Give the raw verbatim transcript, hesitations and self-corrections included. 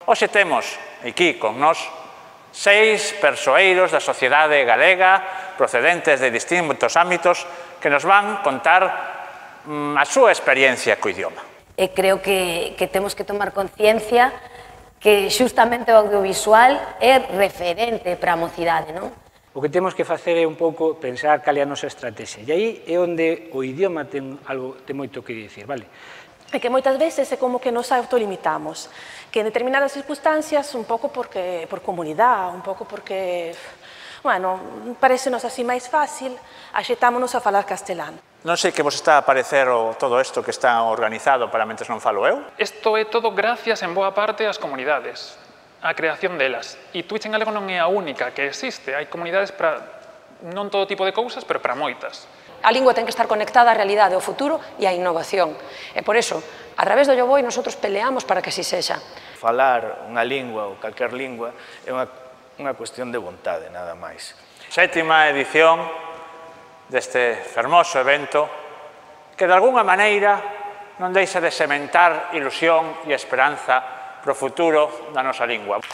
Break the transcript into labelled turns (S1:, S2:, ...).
S1: Hoxe temos aquí con nós seis persoeiros da sociedade galega procedentes de distintos ámbitos que nos van contar mm, a súa experiencia co idioma.
S2: E creo que, que temos que tomar conciencia que xustamente o audiovisual é referente para a mocidade, non?
S3: O que temos que facer é un pouco pensar cal é a nosa estrategia. E aí é onde o idioma ten, algo, ten moito que dicir, vale?
S4: É que moitas veces é como que nos autolimitamos, que en determinadas circunstancias, un pouco porque, por comunidade, un pouco porque, bueno, parecenos así máis fácil, axetámonos a falar castelán.
S1: Non sei que vos está a parecer o, todo isto que está organizado para mentes non falo eu.
S5: Isto é todo gracias en boa parte ás comunidades, á creación delas. E Twitch en galego non é a única que existe, hai comunidades para non todo tipo de cousas, pero para moitas.
S6: A lingua ten que estar conectada á realidade, ao futuro e á innovación. E por iso, a través do Yoboi, nosotros peleamos para que así sexa.
S7: Falar unha lingua ou calquer lingua é unha, unha cuestión de vontade, nada máis.
S1: Sétima edición deste fermoso evento que, de algunha maneira, non deixa de sementar ilusión e esperanza para o futuro da nosa lingua.